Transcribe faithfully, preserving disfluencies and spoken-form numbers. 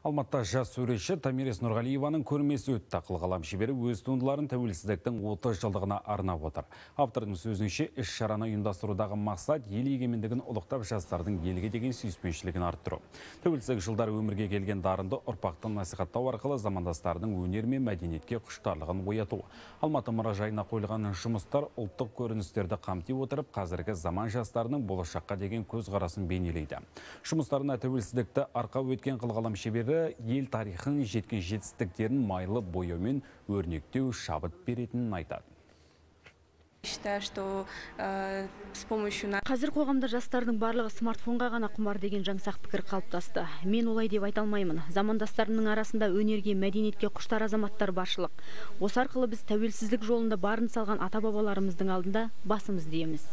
Алматыда жас суретші Томирис Нұрғалиеваның көрмесі өтті. Қылғалам шебері өз туындыларын тәуелсіздіктің отыз жылдығына арнап отыр. Автордың сөзінше іс шараны ұйымдастырудағы мақсат ел егемендігін ұлықтап, жастардың елге деген сүйіспеншілігін арттыру. Тәуелсіздік жылдары өмірге келген дарынды ұрпақты насихаттау арқылы замандастардың өнер мен мәдениетке құштарлығын ояту. Алматы мұражайына қойылған жұмыстар ұлттық көріністерді қамти отырып, қазіргі заман жастарының болашаққа деген көзқарасын бейнелейді. Жұмыстарына тәуелсіздікті арқа өткен қылғалам шебері ел тарихын, жеткен жетістіктерін майлы бояумен өрнектеу, шабыт беретінін айтады. Қазір қоғамда жастардың барлығы смартфонға ғана құмар деген жаңсақ пікір қалыптасты. Мен олай деп айта алмаймын. Замандастарымның арасында өнерге, мәдениетке құштар азаматтар баршылық. Осы арқылы біз тәуелсіздік жолында барын салған ата-бабаларымыздың алдында басымыз дейміз.